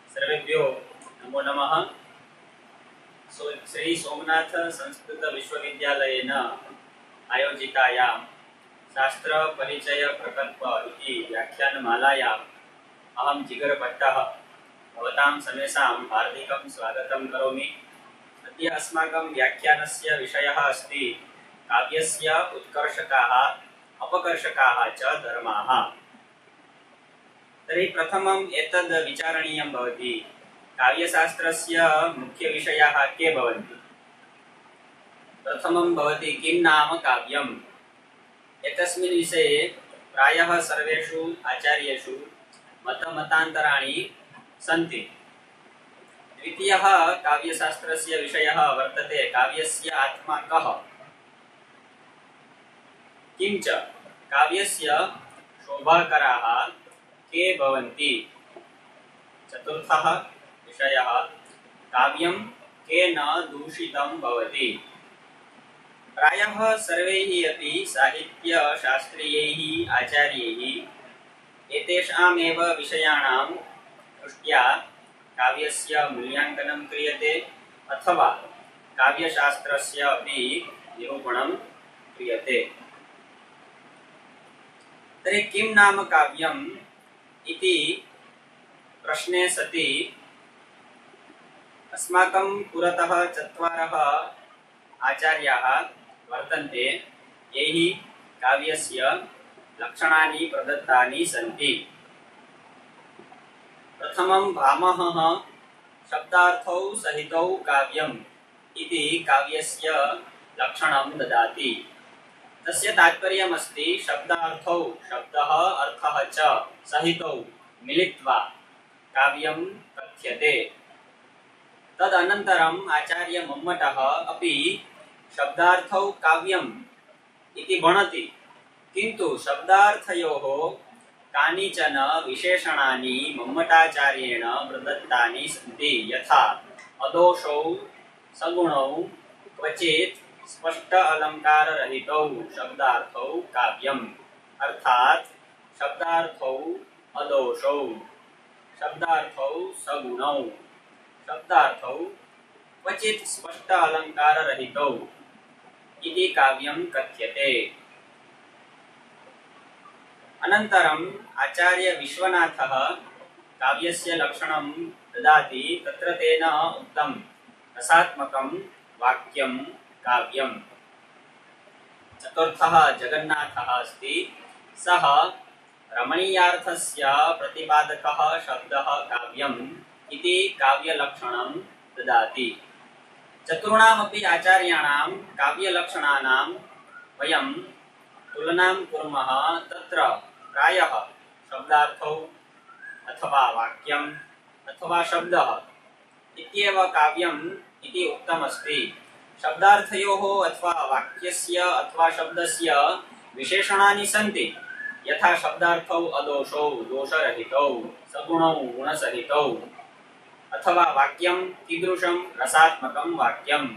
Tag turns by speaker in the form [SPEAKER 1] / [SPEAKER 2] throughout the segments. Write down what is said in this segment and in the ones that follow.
[SPEAKER 1] सर्वेभ्यो नमो नमः। श्री सोमनाथ संस्कृत विश्वविद्यालयेन आयोजितायां शास्त्र परिचय प्रकल्प इति व्याख्यानमालायाम् अहं जिगरभट्टः भवतां सर्वेषां हार्दिकं स्वागतं करोमि। अद्य अस्माकं व्याख्यानस्य विषयः अस्ति काव्यस्य उत्कर्षकाः अपकर्षकाः च धर्माः। तर्हि प्रथमम् एतद् विचारणीयं भवति, काव्यशास्त्रस्य मुख्यविषयाः के भवन्ति। प्रथमं भवति किं नाम काव्यम्। एतस्मिन् विषये प्रायः सर्वेषु आचार्येषु मतमतान्तराणि सन्ति। द्वितीयः काव्यशास्त्रस्य विषयः वर्तते काव्यस्य आत्मा कः, किञ्च काव्यस्य शोभाकराः के भवन्ति। चतुर्थः विषयः काव्यं केन दूषितं भवति। प्रायः सर्वैः अपि साहित्यशास्त्रीयैः आचार्यैः एतेषामेव विषयाणां दृष्ट्या काव्यस्य मूल्याङ्कनं क्रियते अथवा काव्यशास्त्रस्य अपि निरूपणं क्रियते। तर्हि किं नाम काव्यम् इति प्रश्ने सति अस्माकं पुरतः चत्वारः आचार्याः वर्तन्ते, यैः काव्यस्य लक्षणानि प्रदत्तानि सन्ति। प्रथमं भामहः शब्दार्थौ सहितौ काव्यम् इति काव्यस्य लक्षणं ददाति। तस्य तात्पर्यमस्ति शब्दार्थौ, शब्दः अर्थः च सहितौ मिलित्वा काव्यं कथ्यते। तदनन्तरम् आचार्य मम्मटः अपि शब्दार्थौ काव्यम् इति भणति, किन्तु शब्दार्थयोः कानिचन विशेषणानि मम्मटाचार्येण प्रदत्तानि सन्ति, यथा अदोषौ सगुणौ क्वचित् स्पष्ट अलंकाररहितौ शब्दार्थौ काव्यम्, अर्थात् शब्दार्थौ अदोषौ, शब्दार्थौ सगुणौ, शब्दार्थौ क्वचित् स्पष्ट अलंकाररहितौ इति काव्यं कथ्यते। अनन्तरम् आचार्य विश्वनाथः काव्यस्य लक्षणं ददाति। तत्र तेन उक्तं रसात्मकं वाक्यं काव्यम्। चतुर्थः जगन्नाथः अस्ति। सः रमणीयार्थस्य प्रतिपादकः शब्दः काव्यम् इति काव्यलक्षणं ददाति। चतुर्णामपि आचार्याणां काव्यलक्षणानां वयं तुलनां कुर्मः। तत्र प्रायः शब्दार्थौ अथवा वाक्यम् अथवा शब्दः इत्येव काव्यम् इति उक्तमस्ति। शब्दार्थयोः अथवा वाक्यस्य अथवा शब्दस्य विशेषणानि सन्ति, यथा शब्दार्थौ अदोषौ दोषरहितौ, सगुणौ गुणसहितौ, अथवा वाक्यं कीदृशं रसात्मकं वाक्यम्,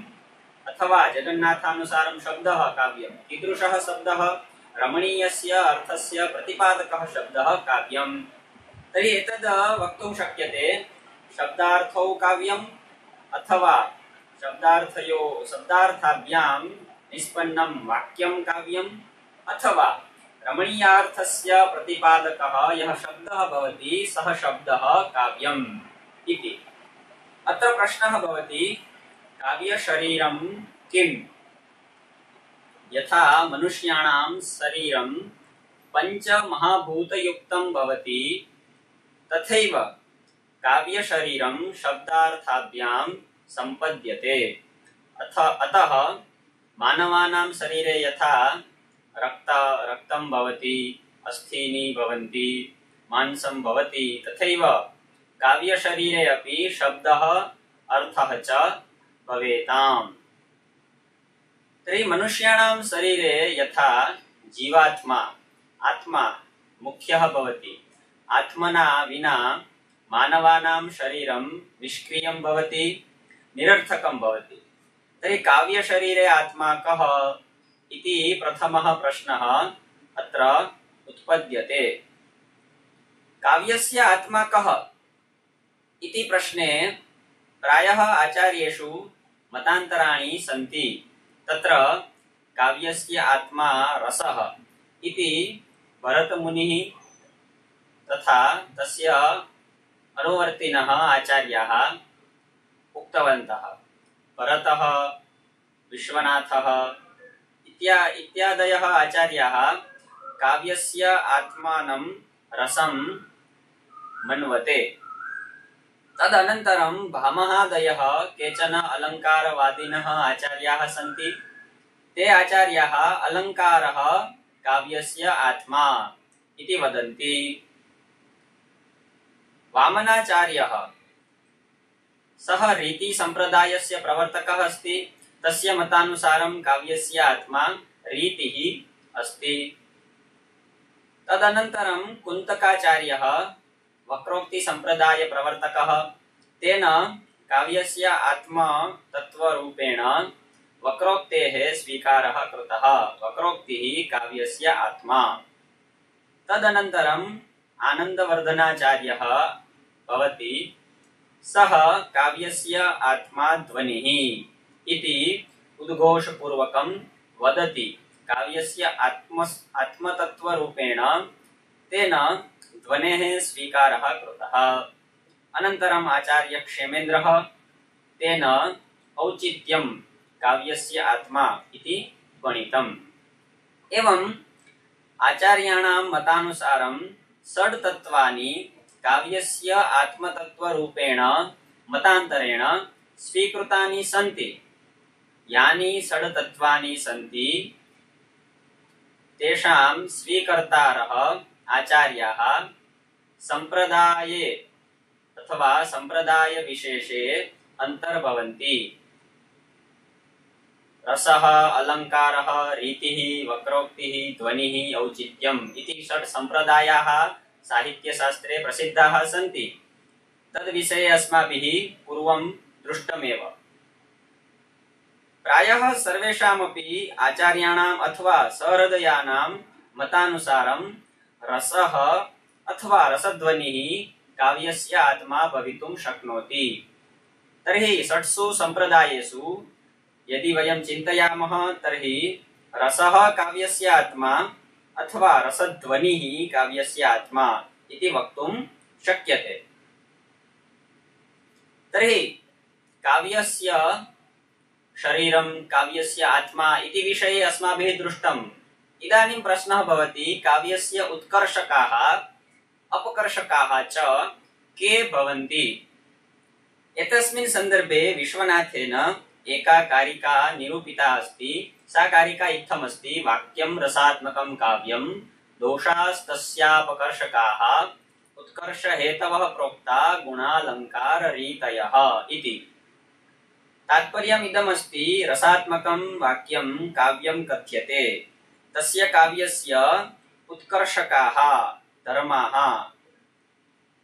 [SPEAKER 1] अथवा जगन्नाथानुसारं शब्दः काव्यं कीदृशः शब्दः रमणीयस्य अर्थस्य प्रतिपादकः शब्दः काव्यम्। तर्हि एतद् वक्तुं शक्यते शब्दार्थौ काव्यम् अथवा शब्दार्थाभ्यां निष्पन्नं वाक्यं काव्यम्, अथवा रमणीयार्थस्य प्रतिपादकः यः शब्दः भवति सः शब्दः काव्यम् इति। अत्र प्रश्नः भवति काव्यशरीरं किम्। यथा मनुष्याणां शरीरं पञ्चमहाभूतयुक्तं भवति, तथैव काव्यशरीरं शब्दार्थाभ्यां सम्पद्यते। अतः मानवानां शरीरे यथा रक्तं भवति, अस्थीनि भवन्ति, मांसं भवति, तथैव काव्यशरीरे अपि शब्दः अर्थः च भवेताम्। तर्हि मनुष्याणां शरीरे यथा जीवात्मा आत्मा मुख्यः भवति, आत्मना विना मानवानां शरीरं निष्क्रियं भवति, निरर्थकं भवति। तर्हि काव्यशरीरे आत्मा कः इति प्रथमः प्रश्नः अत्र उत्पद्यते। काव्यस्य आत्मा कः इति प्रश्ने प्रायः आचार्येषु मतान्तराणि सन्ति। तत्र काव्यस्य आत्मा रसः इति भरतमुनिः तथा तस्य अनुवर्तिनः आचार्याः उक्तवन्तः। भरतः, विश्वनाथः इत्यादयः आचार्याः काव्यस्य आत्मानं रसं मन्वते। तदनन्तरं भामहादयः केचन अलङ्कारवादिनः आचार्याः सन्ति। ते आचार्याः अलङ्कारः काव्यस्य आत्मा इति वदन्ति। वामनाचार्यः सः रीतिसम्प्रदायस्य प्रवर्तकः अस्ति। तस्य मतानुसारं काव्यस्य आत्मा रीतिः अस्ति। तदनन्तरं कुन्तकाचार्यः वक्रोक्तिसम्प्रदायप्रवर्तकः। तेन काव्यस्य आत्मा तत्त्वरूपेण वक्रोक्तेः स्वीकारः कृतः। वक्रोक्तिः काव्यस्य आत्मा। तदनन्तरम् आनन्दवर्धनाचार्यः भवति। सः काव्यस्य आत्मा ध्वनिः इति उद्घोषपूर्वकं वदति। काव्यस्य आत्मतत्त्वरूपेण तेन ध्वनेः स्वीकारः कृतः। अनन्तरम् आचार्यक्षेमेन्द्रः तेन औचित्यं काव्यस्य आत्मा इति गणितम्। एवम् आचार्याणां मतानुसारं षड् तत्त्वानि काव्यस्य आत्मतत्त्वरूपेण मतान्तरेण स्वीकृतानि सन्ति। यानि षड् तत्त्वानि सन्ति तेषां स्वीकर्तारः आचार्याः संप्रदाये अथवा संप्रदायविशेषे अन्तर्भवन्ति। रसः, अलङ्कारः, रीतिः, वक्रोक्तिः, ध्वनिः, औचित्यम् इति षट् सम्प्रदायाः साहित्यशास्त्रे प्रसिद्धाः सन्ति। तद्विषये अस्माभिः पूर्वं दृष्टमेव। प्रायः सर्वेषामपि आचार्याणाम् अथवा सहृदयानां मतानुसारं रसः अथवा रसध्वनिः काव्यस्य आत्मा भवितुं शक्नोति। तर्हि षट्सु सम्प्रदायेषु यदि वयं चिन्तयामः तर्हि रसः काव्यस्य आत्मा अथवा रसध्वनिः काव्यस्य आत्मा इति वक्तुं शक्यते। तर्हि काव्यस्य शरीरं, काव्यस्य आत्मा इति विषये अस्माभिः दृष्टम्। इदानीं प्रश्नः भवति, काव्यस्य उत्कर्षकाः अपकर्षकाः च के भवन्ति? एतस्मिन् सन्दर्भे विश्वनाथेन एका कारिका निरूपिता अस्ति। सा कारिका इत्थमस्ति: वाक्यं रसात्मकं काव्यं दोषास्तस्यापकर्षकाः उत्कर्षहेतवः प्रोक्ता गुणालङ्काररीतयः इति। तात्पर्यम् इदमस्ति, रसात्मकं वाक्यं काव्यं कथ्यते। तस्य काव्यस्य उत्कर्षकाः धर्माः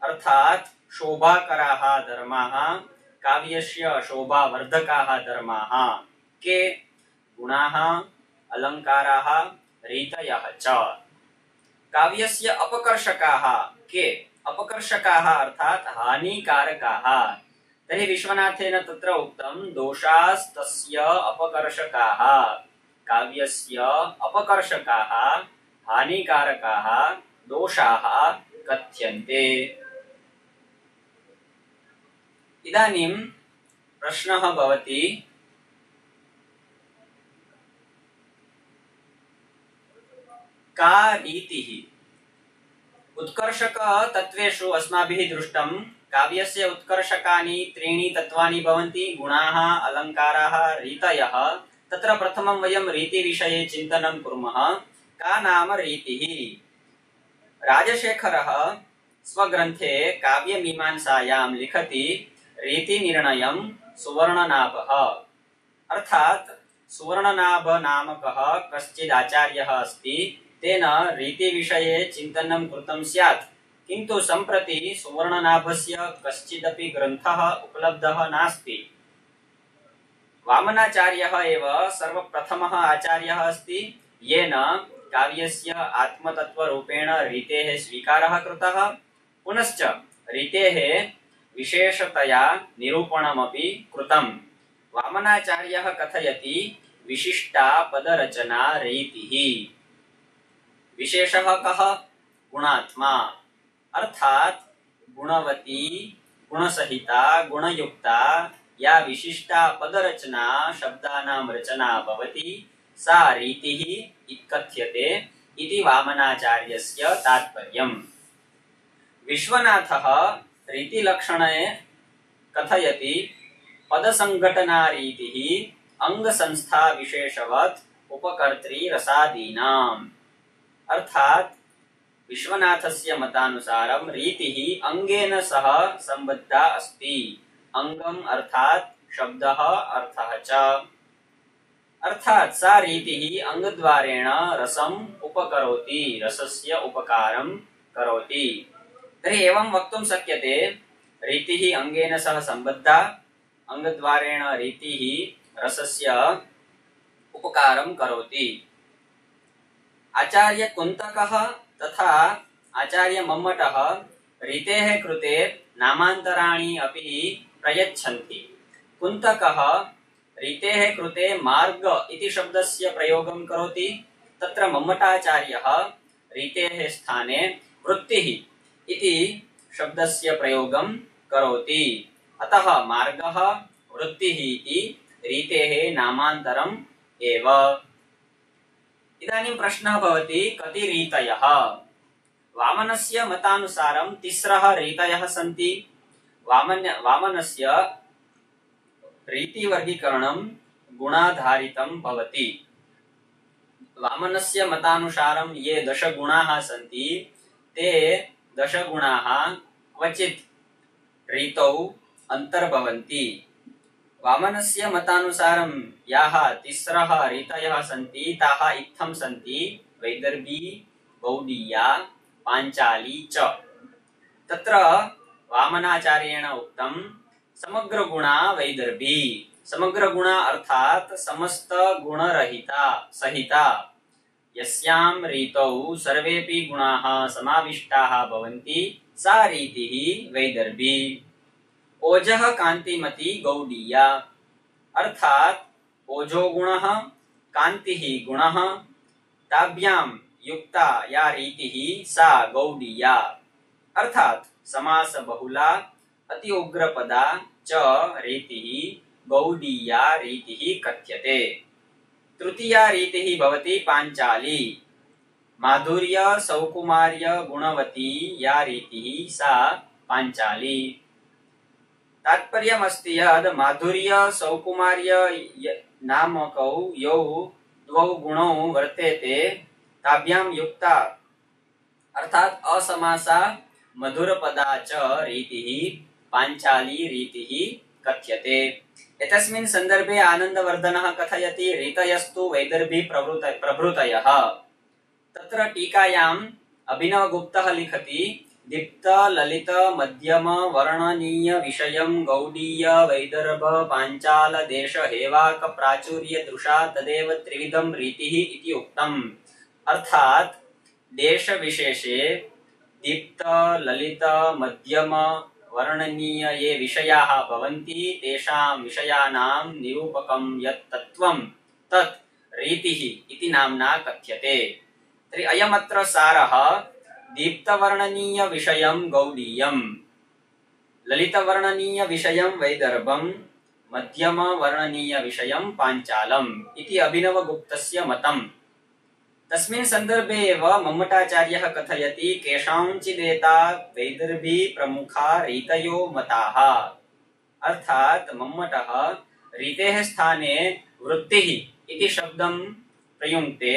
[SPEAKER 1] अर्थात् शोभाकराः धर्माः, काव्यस्य शोभावर्धकाः धर्माः के? गुणाः, अलङ्काराः, रीतयः च। काव्यस्य अपकर्षकाः के? अपकर्षकाः अर्थात् हानिकारकाः। तर्हि विश्वनाथेन तत्र उक्तं दोषास्तस्य अपकर्षकाः। काव्यस्य अपकर्षकाः हानिकारकाः दोषाः कथ्यन्ते। इदानीं प्रश्नः भवति, का रीतिः? उत्कर्षक तत्वेषु अस्माभिः दृष्टं काव्यस्य उत्कर्षकानि त्रीणि तत्त्वानि भवन्ति: गुणाः, अलङ्काराः, रीतयः। तत्र प्रथमं वयं रीतिविषये चिन्तनं कुर्मः। का नाम रीतिः? राजशेखरः स्वग्रन्थे काव्यमीमांसायां लिखति, रीतिनिर्णयं सुवर्णनाभः। अर्थात् सुवर्णनाभ नामकः कश्चित् आचार्यः अस्ति। तेन रीतिविषये चिन्तनं कृतं स्यात्, किन्तु सम्प्रति सुवर्णनाभस्य कश्चिदपि ग्रन्थः उपलब्धः नास्ति। वामनाचार्यः एव सर्वप्रथमः आचार्यः अस्ति येन काव्यस्य आत्मतत्त्वरूपेण रीतेः स्वीकारः कृतः, पुनश्च रीतेः विशेषतया निरूपणमपि कृतम्। वामनाचार्यः कथयति विशिष्टा पदरचना रीतिः। विशेषः कः? गुणात्मा, अर्थात गुणवती, गुणसहिता, गुणयुक्ता या विशिष्टा पदरचना शब्दानां रचना भवति सा रीतिः इत्कथ्यते इति वामनाचार्यस्य तात्पर्यम्। विश्वनाथः रीतिलक्षणे कथयति पदसंघटनारीतिः अंगसंस्था विशेषवत् उपकर्त्री रसादीनाम्। अर्थात विश्वनाथस्य मतानुसारं रीतिः अंगेन सह संबद्धा अस्ति। अंगम अर्थात शब्दः, अर्थः च। अर्थात सा रीतिः अंगद्वारेण रसम् उपकरोति, रसस्य उपकारं करोति। तर्हि एवं वक्तुं शक्यते रीतिः अंगेन सह संबद्धा, अंगद्वारेण रीतिः रसस्य उपकारं करोति। आचार्य कुन्तकः तथा आचार्य मम्मटः रीतेः कृते नामान्तराणि अपि प्रयच्छन्ति। कुन्तकः रीतेः कृते मार्ग इति शब्दस्य प्रयोगं करोति, तत्र मम्मटाचार्यः रीतेः स्थाने वृत्तिः इति शब्दस्य प्रयोगं करोति। अतः मार्गः वृत्तिः इति रीतेः नामान्तरम् एव। इदानीं प्रश्नः भवति कति रीतयः? वामनस्य मतानुसारं तिस्रः रीतयः सन्ति। वामनस्य रीतिवर्गीकरणं गुणाधारितं भवति। वामनस्य मतानुसारं ये 10 गुणाः सन्ति ते 10 गुणाः क्वचित् रीतौ अन्तर्भवन्ति। वामनस्य मतानुसारं याः तिस्रः रीतयः सन्ति ताः इत्थं सन्ति: वैदर्भी, गौडीया, पाञ्चाली च। तत्र वामनाचार्येण उक्तं समग्रगुणा वैदर्भी। समग्रगुणा अर्थात समस्त गुणरहिता सहिता, यस्यां रीतौ सर्वेपि गुणाः समाविष्टाः भवन्ति सा रीतिः वैदर्भी। ओजः कान्तिमती गौडीया, अर्थात ओजो गुणः, कान्तिः गुणः, ताभ्यां युक्ता या रीतिः सा गौडीया। अर्थात समास बहुला अति उग्रपदा च रीतिः गौडीया रीतिः कथ्यते। तृतीया रीतिः भवति पाञ्चाली। माधुर्य सौकुमार्य गुणवती या रीतिः सा पाञ्चाली। तात्पर्यमस्ति यद् माधुर्य सौकुमार्य नामकौ यौ द्वौ गुणौ वर्तेते ताभ्यां युक्ता अर्थात असमासा मधुरपदा च रीतिः पाञ्चाली रीतिः कथ्यते। एतस्मिन् सन्दर्भे आनन्दवर्धनः कथयति रीतयस्तु वैदर्भी प्रभृतयः। तत्र टीकायाम् अभिनवगुप्तः लिखति दीप्त ललित मध्यम वर्णनीय विषयं गौडीय वैदर्भ पाञ्चाल देश हेवाक प्राचुर्य दृशा तदेव त्रिविधं रीतिः इति उक्तम्। अर्थात देश विशेषे दीप्त ललित मध्यम वर्णनीय ये विषयाः भवन्ति तेषां विषयाणां निरूपकं यत् तत्त्वं तत् रीतिः इति नाम्ना कथ्यते। तर्हि अयमत्र सारः दीप्तवर्णनीय विषयं गौडीयं, ललितवर्णनीय विषयं वैदर्भं, मध्यम वर्णनीय विषयं पाञ्चालम् इति अभिनवगुप्तस्य मतम्। तस्मिन् सन्दर्भे एव मम्मटाचार्यः कथयति केषाञ्चिदेता वैदर्भी प्रमुखा रीतयो मताः। अर्थात मम्मटः रीतेः स्थाने वृत्तिः इति शब्दं प्रयुङ्क्ते।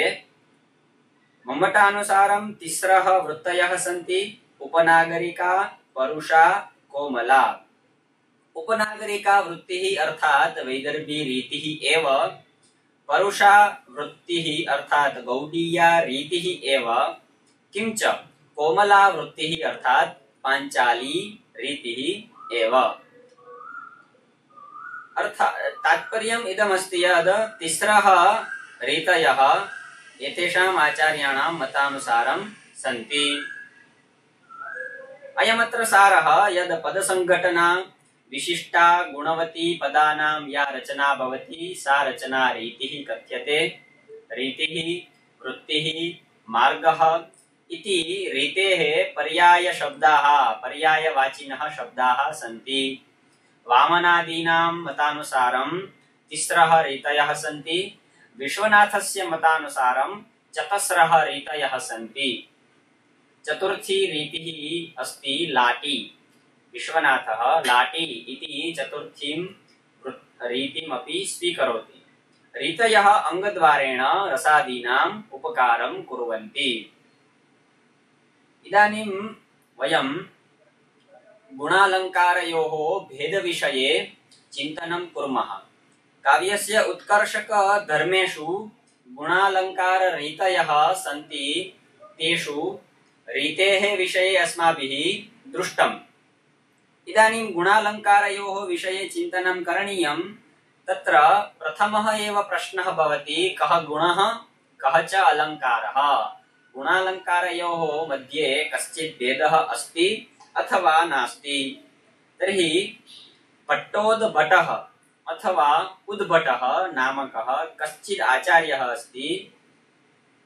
[SPEAKER 1] मम्मटानुसारं तिस्रः वृत्तयः सन्ति: उपनागरिका, परुषा, कोमला। उपनागरिका वृत्तिः अर्थात वैदर्भी रीतिः एव, परुषा वृत्तिः अर्थात गौडीया रीतिः एव, किंच कोमला वृत्तिः अर्थात पाञ्चाली रीतिः एव। तात्पर्यम् इदमस्ति यद् तिस्रः रीतयः एतेषाम् आचार्याणां मतानुसारं सन्ति। अयमत्र सारः यद् पदसङ्घटना विशिष्टा गुणवती पदानां या रचना भवति सा रचना रीतिः कथ्यते। रीतिः वृत्तिः मार्गः इति रीतेः पर्यायशब्दाः पर्यायवाचिनः शब्दाः सन्ति। वामनादीनां मतानुसारं तिस्रः रीतयः सन्ति। विश्वनाथस्य मतानुसारं चतस्रः रीतयः सन्ति। चतुर्थी रीतिः अस्ति लाटी। विश्वनाथः लाटी इति चतुर्थीं रीतिमपि स्वीकरोति। रीतयः अङ्गद्वारेण रसादीनाम् उपकारं कुर्वन्ति। इदानीं वयं गुणालङ्कारयोः भेदविषये चिन्तनं कुर्मः। काव्यस्य उत्कर्षकधर्मेषु गुणालङ्काररीतयः सन्ति। तेषु रीतेः विषये अस्माभिः दृष्टम्। इदानीं गुणालङ्कारयोः विषये चिन्तनं करणीयं। तत्र प्रथमः एव प्रश्नः भवति, कः गुणः कः च अलङ्कारः। गुणालङ्कारयोः मध्ये कश्चित् भेदः अस्ति अथवा नास्ति। तर्हि पट्टोद्भटः अथवा उद्भटः नामकः कश्चित् आचार्यः अस्ति।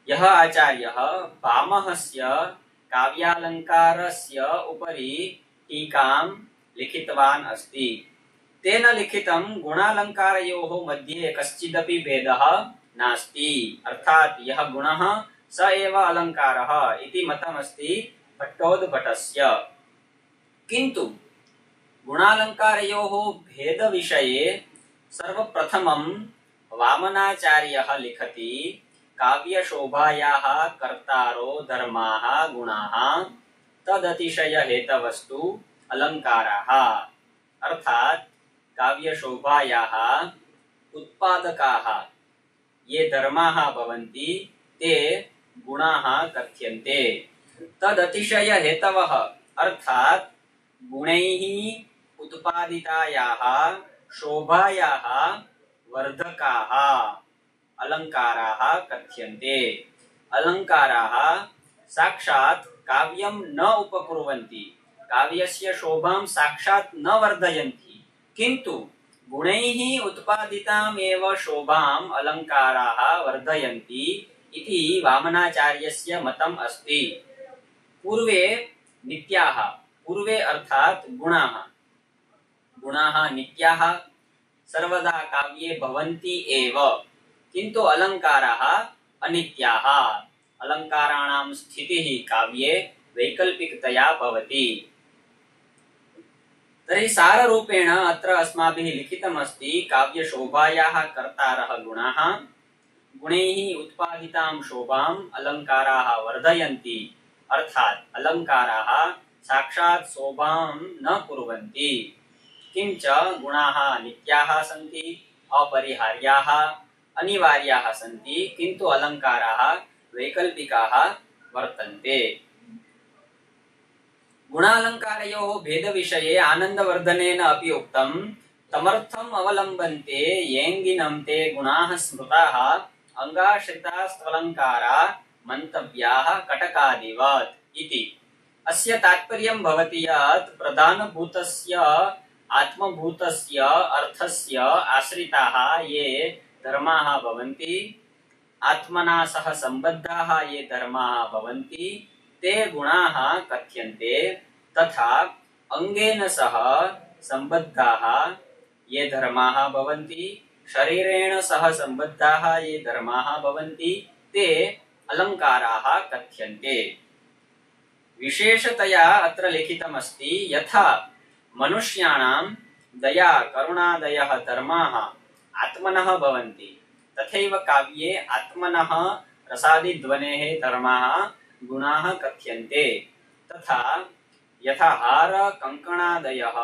[SPEAKER 1] यः आचार्यः भामहस्य काव्यालङ्कारस्य उपरि टीकां लिखितवान् अस्ति। तेन लिखितं गुणालङ्कारयोः मध्ये कश्चिदपि भेदः नास्ति। अर्थात् यः गुणः स एव अलङ्कारः इति मतमस्ति पट्टोद्भटस्य। किन्तु गुणालङ्कारयोः भेदविषये सर्वप्रथमं वामनाचार्यः लिखति, काव्यशोभायाः कर्तारो धर्माः गुणाः तदतिशयहेतवस्तु अलङ्काराः। अर्थात् काव्यशोभायाः उत्पादकाः ये धर्माः भवन्ति ते गुणाः कथ्यन्ते। तदतिशयहेतवः अर्थात् गुणैः उत्पादितायाः शोभायाः वर्धकाः अलङ्काराः कथ्यन्ते। अलङ्काराः साक्षात् काव्यं न उपकुर्वन्ति, काव्यस्य शोभां साक्षात् न वर्धयन्ति, किन्तु गुणैः उत्पादिताम् एव शोभाम् अलङ्काराः वर्धयन्ति इति वामनाचार्यस्य मतम् अस्ति। पूर्वे नित्याः, पूर्वे अर्थात् गुणाः, गुणाः नित्याः सर्वदा काव्ये भवन्ति एव, किन्तु अलङ्काराः अनित्याः। अलङ्काराणां स्थितिः काव्ये वैकल्पिकतया भवति। तर्हि साररूपेण अत्र अस्माभिः लिखितमस्ति, काव्यशोभायाः कर्तारः गुणाः, गुणैः उत्पादितां शोभाम् अलङ्काराः वर्धयन्ति। अर्थात् अलङ्काराः साक्षात् शोभां न कुर्वन्ति, किञ्च गुणाः नित्याः सन्ति, अपरिहार्याः, अनिवार्याः सन्ति, किन्तु अलङ्काराः वैकल्पिकाः वर्तन्ते। गुणालङ्कारयोः भेदविषये आनन्दवर्धनेन अपि उक्तं, तमर्थम् अवलम्बन्ते येङ्गिनं ते गुणाः स्मृताः अङ्गाश्रितास्त्वलङ्कारा मन्तव्याः कटकादिवत् इति। अस्य तात्पर्यं भवति यत् प्रधानभूतस्य आत्मभूतस्य अर्थस्य आश्रिताः ये धर्माः भवन्ति, आत्मना सह सम्बद्धाः ये धर्माः भवन्ति, ते गुणाः कथ्यन्ते। तथा अंगेन सह सम्बद्धाः ये धर्माः भवन्ति, शरीरेण सह सम्बद्धाः ये धर्माः भवन्ति, ते अलङ्काराः कथ्यन्ते। विशेषतया अत्र लिखितमस्ति, यथा मनुष्याणां दया करुणादयः धर्माः आत्मनः भवन्ति, तथैव काव्ये आत्मनः रसादिध्वनेः धर्माः गुणाः कथ्यन्ते। तथा यथा हार कंकणादयः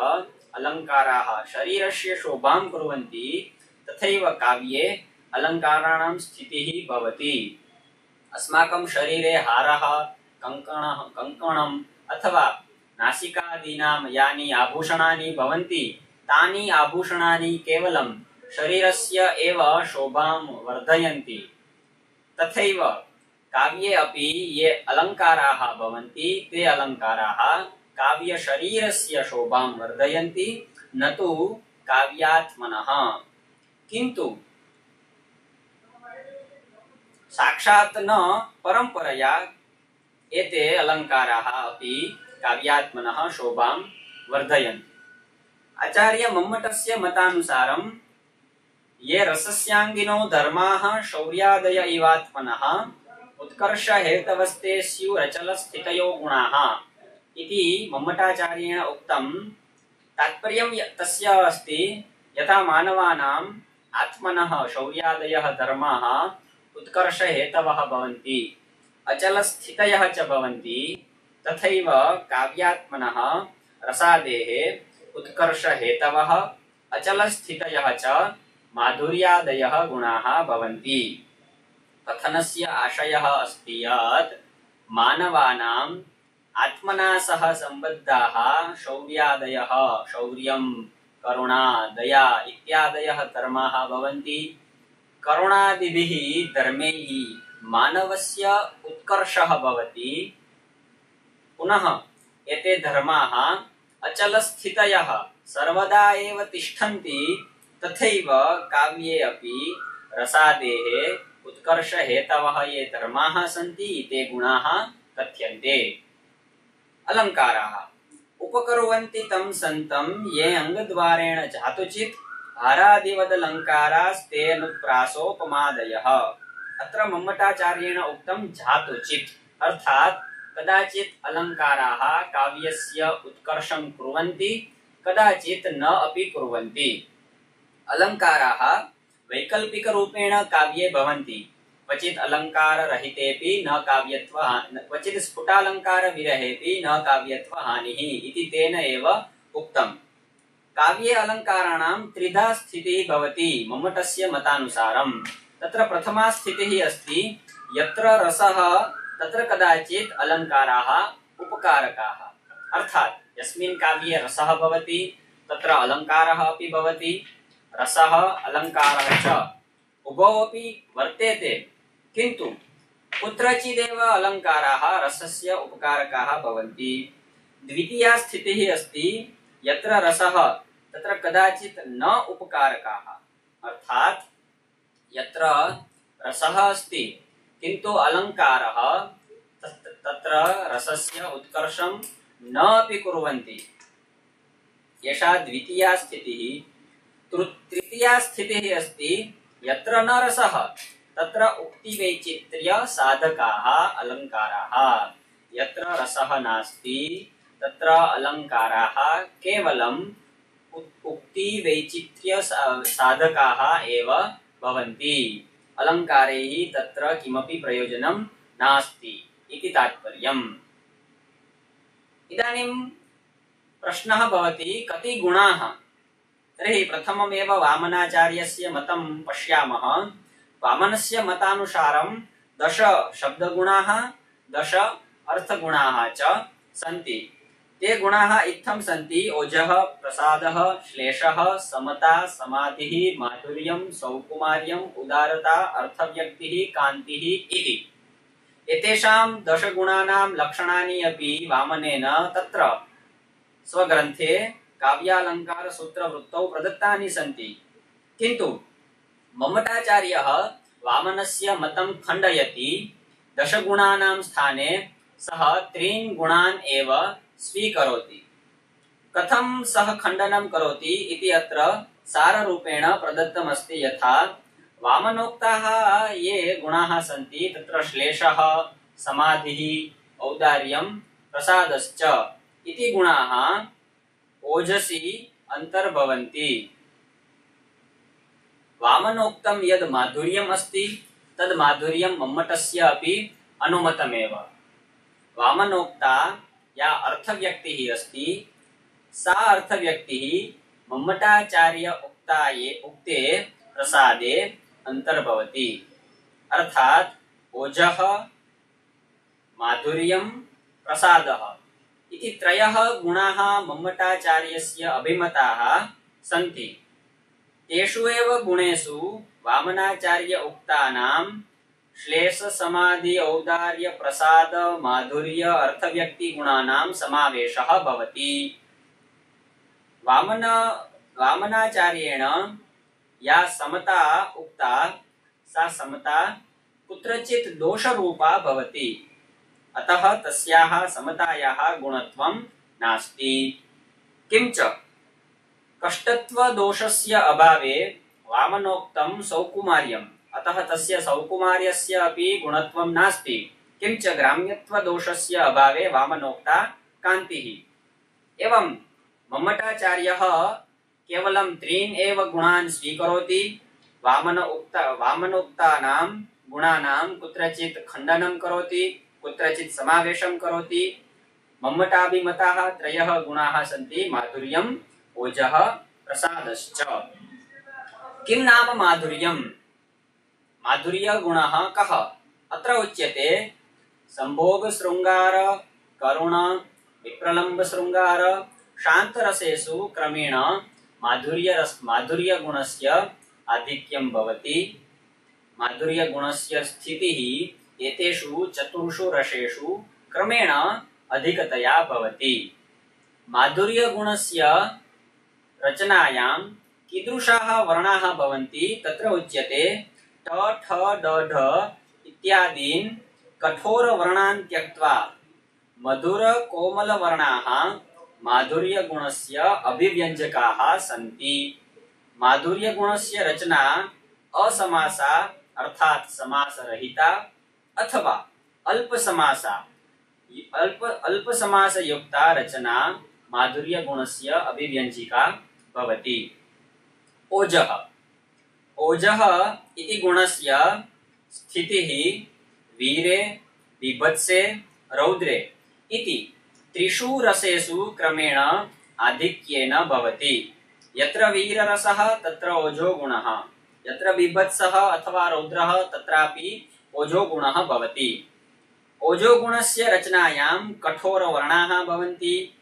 [SPEAKER 1] अलङ्काराः शरीरस्य शोभां कुर्वन्ति, तथैव काव्ये अलङ्काराणां स्थितिः भवति। अस्माकं शरीरे हारः, कंकणम् अथवा नासिकादीनां यानि आभूषणानि भवन्ति, तानि आभूषणानि केवलं शरीरस्य एव शोभां वर्धयन्ति, तथैव काव्ये अपि ये अलङ्काराः भवन्ति ते अलङ्काराः काव्यशरीरस्य शोभां वर्धयन्ति, न तु काव्यात्मनः। किन्तु साक्षात् न परम्परया एते अलङ्काराः अपि काव्यात्मनः शोभां वर्धयन्ति। आचार्य मम्मटस्य मतानुसारं ये रसस्यांगिनो धर्माः शौर्यादय इवात्मनः उत्कर्ष हेतवस्ते स्युरचलस्थितयो गुणाः इति मम्मटाचार्येण उक्तं। तात्पर्यं तस्य अस्ति यथा मानवानाम् आत्मनः शौर्यादयः धर्माः उत्कर्ष हेतवः भवन्ति, अचलस्थितयः च भवन्ति, तथैव काव्यात्मनः रसादेः उत्कर्ष हेतवः अचलस्थितयः च माधुर्यादयः गुणाः भवन्ति। कथनस्य आशयः अस्ति यत् मानवानाम् आत्मना सह सम्बद्धाः शौर्यादयः, शौर्यं, करुणा, दया इत्यादयः धर्माः भवन्ति। करुणादिभिः धर्मैः मानवस्य उत्कर्षः भवति। पुनः एते धर्माः अचलस्थितयः सर्वदा एव तिष्ठन्ति, तथैव काव्ये अपि रसादेः उत्कर्ष हेतवः ये धर्माः सन्ति ते गुणाः कथ्यन्ते। अलङ्काराः उपकुर्वन्ति तं सन्तं ये अङ्गद्वारेण जातुचित् हारादिवदलङ्कारास्ते अनुप्रासोपमादयः। अत्र मम्मटाचार्येण उक्तं जातुचित्, अर्थात् कदाचित् अलङ्काराः काव्यस्य उत्कर्षं कुर्वन्ति, कदाचित् न अपि कुर्वन्ति। अलङ्काराः वैकल्पिकरूपेण काव्ये भवन्ति, क्वचित् अलङ्काररहितेऽपि न काव्यत्वहानिः, क्वचित् स्फुटालङ्कारविरहेऽपि न काव्यत्वहानिः इति तेन एव उक्तम्। काव्ये अलङ्काराणां त्रिधा स्थितिः भवति मम्मटस्य मतानुसारं। तत्र प्रथमा स्थितिः अस्ति यत्र रसः तत्र कदाचित् अलङ्काराः उपकारकाः, अर्थात् यस्मिन् काव्ये रसः भवति तत्र अलङ्कारः अपि भवति, रसः अलङ्कारः च उभौ अपि वर्तेते, किन्तु कुत्रचिदेव अलङ्काराः रसस्य उपकारकाः भवन्ति। द्वितीया स्थितिः अस्ति यत्र रसः तत्र कदाचित् न उपकारकाः, अर्थात् यत्र रसः अस्ति किन्तु अलङ्कारः तत्र रसस्य उत्कर्षं न अपि कुर्वन्ति। एषा द्वितीया स्थितिः। तृतीया स्थितिः अस्ति यत्र न रसः तत्र उक्तिवैचित्र्य साधकाः अलङ्काराः। यत्र रसः नास्ति तत्र अलङ्काराः केवलम् उक्तिवैचित्र्य साधकाः एव भवन्ति। अलङ्कारैः तत्र किमपि प्रयोजनं नास्ति इति तात्पर्यम्। इदानीं प्रश्नः भवति कति गुणाः? तर्हि प्रथममेव वामनाचार्यस्य मतं पश्यामः। वामनस्य मतानुसारं 10 शब्दगुणाः 10 अर्थगुणाः च सन्ति। ते गुणाः इत्थं सन्ति: ओजः, प्रसादः, श्लेषः, समता, समाधिः, माधुर्यं, सौकुमार्यम्, उदारता, अर्थव्यक्तिः, कान्तिः इति। एतेषां 10 गुणानां लक्षणानि अपि वामनेन तत्र स्वग्रन्थे काव्यालङ्कार सूत्रवृत्तौ प्रदत्तानि सन्ति। किन्तु मम्मटाचार्यः वामनस्य मतं खण्डयति। 10 गुणानां स्थाने सः 3 गुणान् एव स्वीकरोति। कथं सः खण्डनं करोति इति अत्र साररूपेण प्रदत्तमस्ति। यथा वामनोक्ताः ये गुणाः सन्ति तत्र श्लेषः, समाधिः, औदार्यं, प्रसादश्च इति गुणाः ओजसि अन्तर्भवन्ति। वामनोक्तं यद् माधुर्यम् अस्ति तद् माधुर्यं मम्मटस्य अपि अनुमतमेव। वामनोक्ता या अर्थव्यक्तिः अस्ति सा अर्थव्यक्तिः मम्मटाचार्य उक्ते प्रसादे अन्तर्भवति। अर्थात् ओजः, माधुर्यं, प्रसादः इति 3 गुणाः मम्मटाचार्यस्य अभिमताः सन्ति। तेषु एव गुणेषु वामनाचार्य उक्तानां श्लेष समाधि औदार्य प्रसाद माधुर्य अर्थव्यक्ति गुणानां समावेशः भवति। वामनाचार्येण या समता उक्ता सा समता कुत्रचित् दोषरूपा भवति, अतः तस्याः समतायाः गुणत्वं नास्ति। किंच कष्टत्व दोषस्य अभावे वामनोक्तं सौकुमार्यम्, अतः तस्य सौकुमार्यस्य अपि गुणत्वं नास्ति। किंच ग्राम्यत्व दोषस्य अभावे वामनोक्ता कान्तिः। एवं मम्मटाचार्यः केवलं त्रीन् एव गुणान् स्वीकरोति। वामनोक्तानां गुणानां कुत्रचित् खण्डनं करोति, कुत्रचित् समावेशं करोति। मम्मटाभिमताः त्रयः गुणाः सन्ति, माधुर्यम्, ओजः, प्रसादश्च। किं नाम माधुर्यम्? माधुर्यगुणः कः? अत्र उच्यते संभोग शृंगार करुण विप्रलम्ब शृंगार शान्तरसेषु क्रमेण माधुर्यगुणस्य आधिक्यं भवति। माधुर्यगुणस्य स्थितिः एतेषु चतुर्षु रसेषु क्रमेण अधिकतया भवति। माधुर्यगुणस्य रचनायां कीदृशाः वर्णाः भवन्ति तत्र उच्यते ट ठ ड ढ इत्यादीन् कठोरवर्णान् त्यक्त्वा मधुर कोमलवर्णाः माधुर्यगुणस्य अभिव्यञ्जकाः सन्ति। माधुर्यगुणस्य रचना असमासा अर्थात् समासरहिता अथवा अल्पसमासयुक्ता रचना माधुर्यगुणस्य अभिव्यञ्जिका भवति। ओजः इति गुणस्य स्थितिः वीरे बीभत्से रौद्रे इति त्रिषु रसेषु क्रमेण आधिक्येन भवति। यत्र वीररसः तत्र ओजो गुणः, यत्र बीभत्सः अथवा रौद्रः तत्रापि ओजो गुणः भवति। ओजो गुणस्य रचनायां कठोरवर्णाः भवन्ति,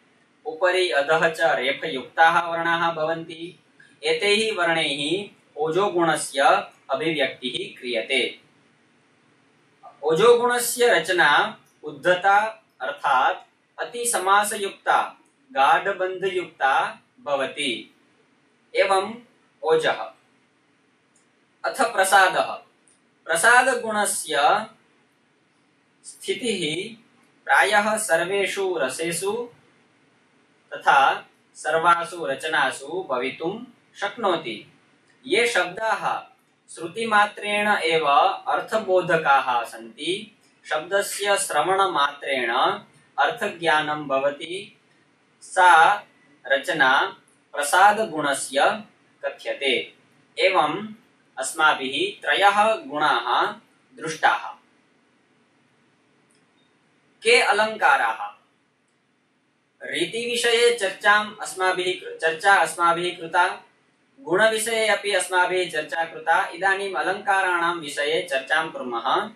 [SPEAKER 1] उपरि अधः च रेफयुक्ताः वर्णाः भवन्ति। एतैः वर्णैः ओजो गुणस्य अभिव्यक्तिः क्रियते। ओजो गुणस्य रचना उद्धता अर्थात् अतिसमासयुक्ता गाढबन्धयुक्ता भवति। एवं ओजः। अथ प्रसादः। प्रसादगुणस्य स्थितिः प्रायः सर्वेषु रसेषु तथा सर्वासु रचनासु भवितुं शक्नोति। ये शब्दाः श्रुतिमात्रेण एव अर्थबोधकाः सन्ति, शब्दस्य श्रवणमात्रेण अर्थज्ञानं भवति, सा रचना प्रसादगुणस्य कथ्यते। एवं अस्माभिः त्रयः गुणाः दृष्टाः। के अलङ्काराः? रीतिविषये चर्चा अस्माभिः कृता, गुणविषये अपि अस्माभिः चर्चा कृता। इदानीम् अलङ्काराणां विषये चर्चां कुर्मः।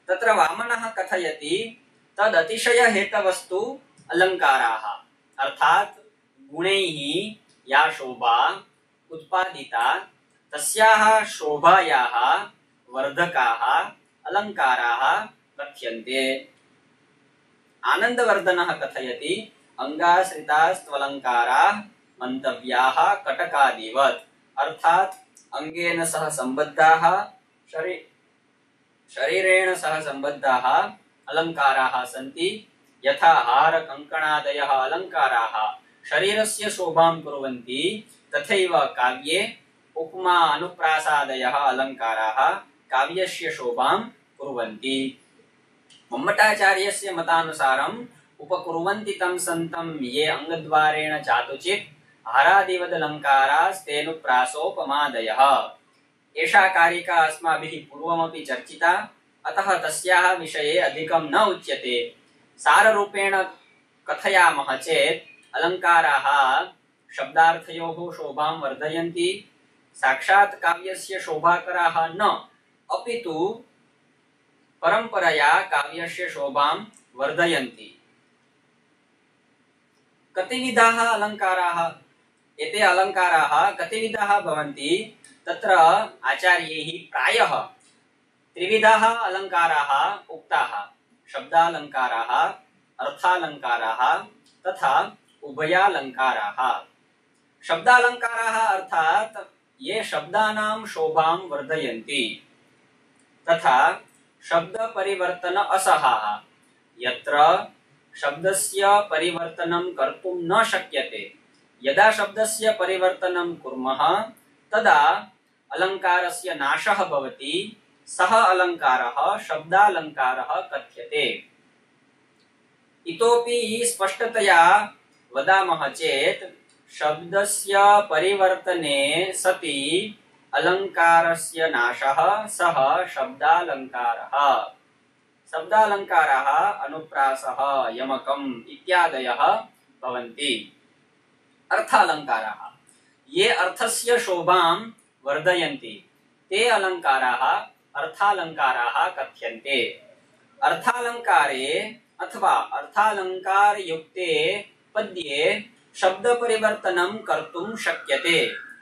[SPEAKER 1] तत्र वामनः कथयति तदतिशयहेतवस्तु अलङ्काराः, अर्थात् गुणैः या शोभा उत्पादिता तस्याः शोभायाः वर्धकाः अलङ्काराः कथ्यन्ते। आनन्दवर्धनः कथयति अंगाश्रितास्त्वलङ्काराः मन्तव्याः कटकादिवत्, अर्थात् अंगेन सह सम्बद्धाः शरीरेण सह सम्बद्धाः अलङ्काराः सन्ति। यथा हार कंकणादयः अलङ्काराः शरीरस्य शोभां कुर्वन्ति, तथैव काव्ये उपमा अनुप्रासादयः अलङ्काराः काव्यस्य शोभां कुर्वन्ति। मम्मटाचार्यस्य मतानुसारम् उपकुर्वन्ति तं सन्तं ये अंगद्वारेण चातुचित् हारादिवदलङ्कारास्तेनुप्रासोपमादयः। एषा कारिका अस्माभिः पूर्वमपि चर्चिता, अतः तस्याः विषये अधिकं न उच्यते। साररूपेण कथयामः चेत् अलङ्काराः शब्दार्थयोः शोभां वर्धयन्ति, साक्षात् काव्यस्य शोभाकराः न, अपितु परम्परया काव्यस्य शोभां वर्धयन्ति। कतिविधाः अलङ्काराः? एते अलङ्काराः कतिविधाः भवन्ति तत्र आचार्यैः प्रायः त्रिविधाः अलङ्काराः उक्ताः शब्दालङ्काराः अर्थालङ्काराः तथा उभयालङ्काराः शब्दालङ्काराः अर्थात् ये शब्दानां शोभां वर्धयन्ति तथा शब्दपरिवर्तन असहाः यत्र शब्दस्य परिवर्तनं कर्तुं न शक्यते यदा शब्दस्य परिवर्तनं कुर्मः तदा अलङ्कारस्य नाशः भवति सः अलङ्कारः शब्दालङ्कारः कथ्यते इतोपि स्पष्टतया वदामः चेत् शब्दस्य परिवर्तने सति अलङ्कारस्य नाशः सः शब्दालङ्कारः शब्दालङ्काराः अनुप्रासः यमकम् इत्यादयः भवन्ति अर्थालङ्काराः ये अर्थस्य शोभां वर्धयन्ति ते अलङ्काराः अर्थालङ्काराः कथ्यन्ते अर्थालङ्कारे अथवा अर्थालङ्कारयुक्ते पद्ये शब्दपरिवर्तनं कर्तुं शक्यते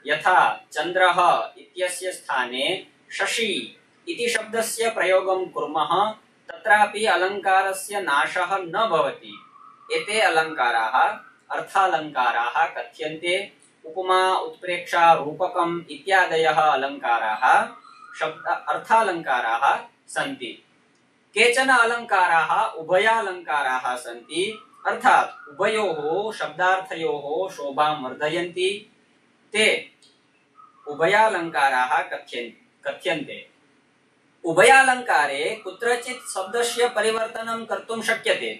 [SPEAKER 1] यथा चन्द्रः इत्यस्य स्थाने शशि इति शब्दस्य प्रयोगं कुर्मः तत्रापि अलङ्कारस्य नाशः न भवति एते अलङ्काराः अर्थालङ्काराः कथ्यन्ते उपमा उत्प्रेक्षा रूपकम् इत्यादयः अलङ्काराः शब्द अर्थालङ्काराः सन्ति केचन अलङ्काराः उभयालङ्काराः सन्ति अर्थात् उभयोः शब्दार्थयोः शोभां वर्धयन्ति ते उभयालङ्काराः कथ्यन्ते उभयालङ्कारे कुत्रचित् शब्दस्य परिवर्तनं कर्तुं शक्यते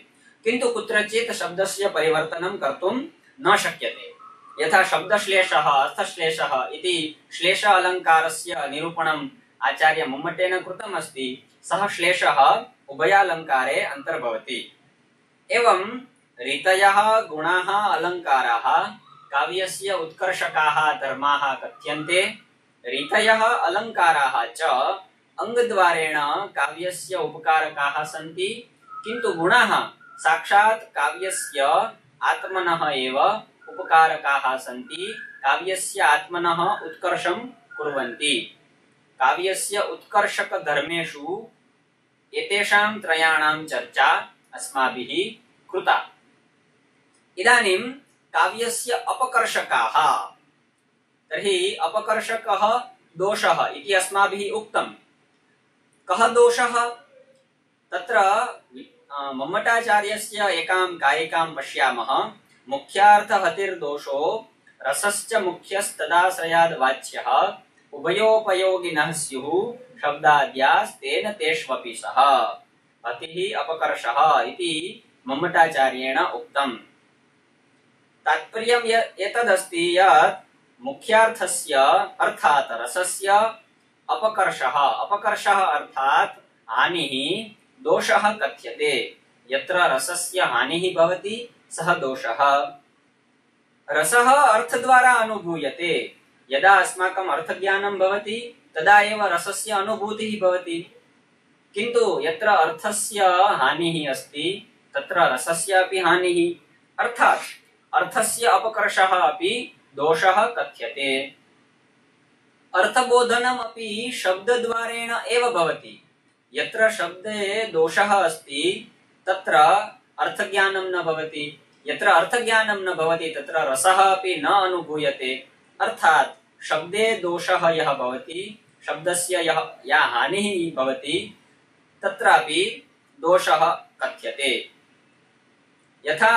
[SPEAKER 1] किन्तु कुत्रचित् शब्दस्य परिवर्तनं कर्तुं न शक्यते यथा शब्दश्लेषः अर्थश्लेषः इति श्लेष अलङ्कारस्य निरूपणम् आचार्य मम्मटेन कृतम् अस्ति सः श्लेषः उभयालङ्कारे अन्तर्भवति एवं रीतयः गुणाः अलङ्काराः काव्यस्य उत्कर्षकाः धर्माः कथ्यन्ते रीतयः अलङ्काराः च अङ्गद्वारेण काव्यस्य उपकारकाः सन्ति किन्तु गुणाः साक्षात् काव्यस्य आत्मनः एव उपकारकाः सन्ति काव्यस्य आत्मनः उत्कर्षं कुर्वन्ति काव्यस्य उत्कर्षक धर्मेषु एतेषां त्रयाणां चर्चा अस्माभिः कृता इदानीं काव्यस्य अपकर्षकाः तर्हि अपकर्षकः दोषः इति अस्माभिः उक्तं कः दोषः तत्र मम्मटाचार्यस्य एकां कारिकां पश्यामः मुख्यार्थहतिर्दोषो रसश्च मुख्यस्तदाश्रयाद् वाच्यः उभयोपयोगिनः स्युः शब्दाद्यास्तेन तेष्वपि सः अतिः अपकर्षः इति मम्मटाचार्येण उक्तम् तात्पर्यम् एतदस्ति यत् मुख्यार्थस्य अर्थात् रसस्य अपकर्षः अर्थात् हानिः दोषः कथ्यते यत्र रसस्य हानिः भवति सः दोषः रसः अर्थद्वारा अनुभूयते यदा अस्माकम् अर्थज्ञानं भवति तदा एव रसस्य अनुभूतिः भवति किन्तु यत्र अर्थस्य हानिः अस्ति तत्र रसस्य अपि हानिः अर्थात् अर्थस्य अपकर्षः अपि दोषः कथ्यते अर्थबोधनम् अपि शब्दद्वारेण एव भवति यत्र शब्दे दोषः अस्ति तत्र अर्थज्ञानं न भवति यत्र अर्थज्ञानं न भवति तत्र रसः अपि न अनुभूयते अर्थात् शब्दे दोषः यः भवति शब्दस्य या हानिः भवति तत्रापि दोषः कथ्यते यथा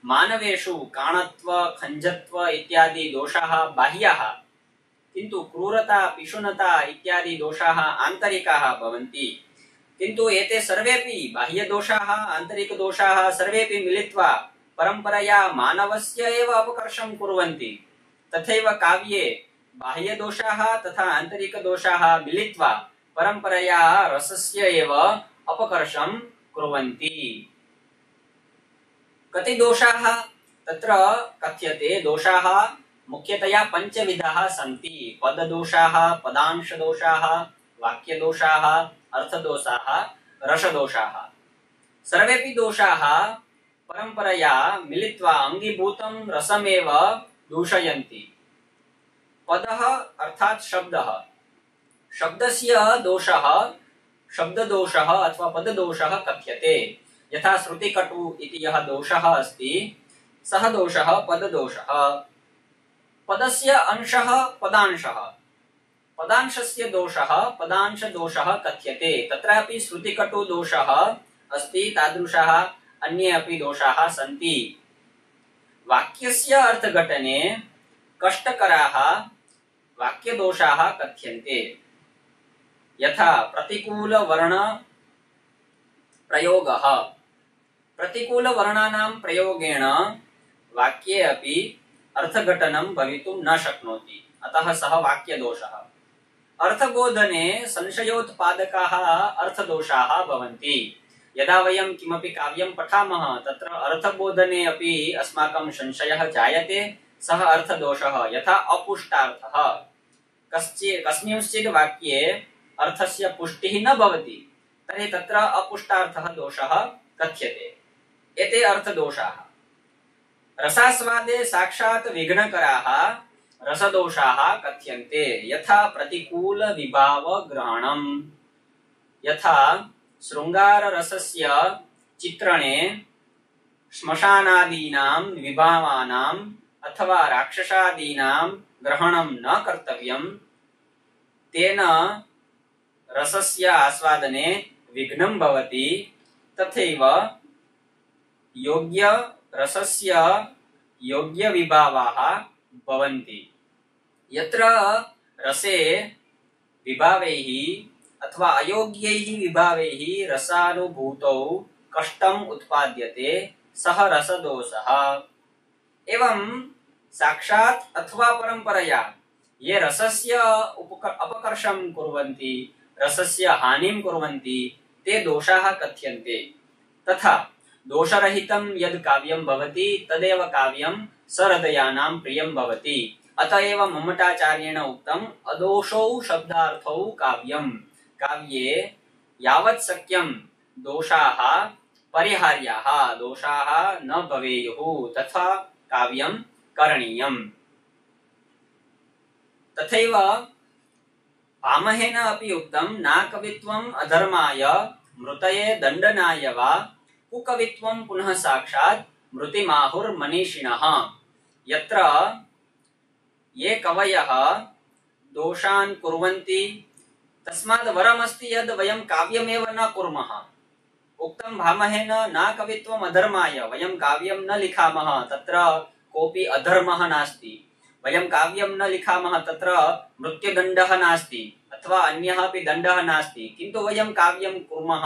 [SPEAKER 1] मानवेषु काणत्व खञ्जत्व इत्यादि दोषाः बाह्याः किन्तु क्रूरता पिशुनता इत्यादि दोषाः आन्तरिकाः भवन्ति किन्तु एते सर्वेपि बाह्यदोषाः आन्तरिकदोषाः सर्वेपि मिलित्वा परम्परया मानवस्य एव अपकर्षं कुर्वन्ति तथैव काव्ये बाह्यदोषाः तथा आन्तरिकदोषाः मिलित्वा परम्परया रसस्य एव अपकर्षं कुर्वन्ति कति दोषाः तत्र कथ्यते दोषाः मुख्यतया पञ्चविधाः सन्ति पददोषाः पदांशदोषाः वाक्यदोषाः अर्थदोषाः रसदोषाः सर्वेपि दोषाः परम्परया मिलित्वा अङ्गीभूतं रसमेव दूषयन्ति। पदः अर्थात शब्दः, शब्दस्य दोषः शब्ददोषः अथवा पददोषः कथ्यते। यथा श्रुतिकटु इति यः दोषः अस्ति सः दोषः पददोषः। पदस्य अंशः पदांशः, पदांशस्य दोषः पदांशदोषः कथ्यते। तत्रापि श्रुतिकटु दोषः अस्ति, तादृशाः अन्ये अपि दोषाः सन्ति। वाक्यस्य अर्थघटने कष्टकराः वाक्यदोषाः कथ्यन्ते। यथा प्रतिकूलवर्ण प्रयोगः, प्रतिकूलवर्णानां प्रयोगेण वाक्ये अपि अर्थघटनं भवितुं न शक्नोति, अतः सः वाक्यदोषः। अर्थबोधने संशयोत्पादकाः अर्थदोषाः भवन्ति। यदा वयं किमपि काव्यं पठामः तत्र अर्थबोधने अपि अस्माकं संशयः जायते, सः अर्थदोषः। यथा अपुष्टार्थः, कस्मिंश्चित् वाक्ये अर्थस्य पुष्टिः न भवति तर्हि तत्र अपुष्टार्थः दोषः कथ्यते। एते अर्थदोषाः। रसास्वादे साक्षात् विघ्नकराः रसदोषाः कथ्यन्ते। यथा प्रतिकूल विभाव ग्रहणम्, यथा शृंगाररसस्य चित्रणे श्मशानादीनां विभावानां अथवा राक्षसादीनां ग्रहणं न कर्तव्यं, तेन रसस्य आस्वादने विघ्नं भवति। तथैव योग्य रसस्य योग्य विभावाः भवन्ति। यत्र रसे विभावैः अथवा अयोग्यैः विभावैः रसानुभूतौ कष्टम् उत्पाद्यते, सः रसदोषः। एवं साक्षात् अथवा परंपरया ये रसस्य अपकर्षं कुर्वन्ति, रसस्य हानिं कुर्वन्ति, ते दोषाः कथ्यन्ते। तथा दोषरहितं यद् काव्यं भवति तदेव काव्यं सहृदयानां प्रियं भवति। अतएव मम्मटाचार्येण उक्तम् अदोषौ शब्दार्थौ काव्यम्। काव्ये यावत् शक्यं दोषाः परिहार्याः, दोषाः न भवेयुः, तथा काव्यं करणीयम्। तथैव भामहेन अपि उक्तं न कवित्वम् अधर्माय मृतये दण्डनाय वा कुकवित्वं पुनः साक्षात् मृतिमाहुर्मनीषिणः। यत्र ये कवयः दोषान् कुर्वन्ति तस्माद् वरमस्ति यद् वयं काव्यमेव न कुर्मः। उक्तं भामहेन न कवित्वम् अधर्माय, वयं काव्यं न लिखामः तत्र कोऽपि अधर्मः नास्ति। वयं काव्यं न लिखामः तत्र मृत्युदण्डः नास्ति अथवा अन्यः अपि दण्डः नास्ति, किन्तु वयं काव्यं कुर्मः,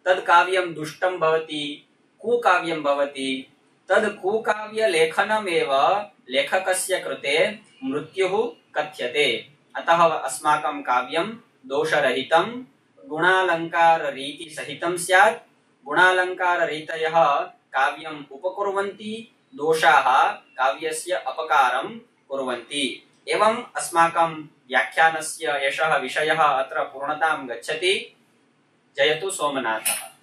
[SPEAKER 1] तद् काव्यं दुष्टं भवति, कुकाव्यं भवति। तद् कुकाव्य लेखनमेव लेखकस्य कृते मृत्युः कथ्यते। अतः अस्माकं काव्यं दोषरहितं गुणालंकार रीति सहितं स्यात्। गुणालंकार रीतयः काव्यम् उपकुर्वन्ति, दोषाः काव्यस्य अपकारं कुर्वन्ति। एवं अस्माकं व्याख्यानस्य एषः विषयः अत्र पूर्णतां गच्छति। जयतु सोमनाथः।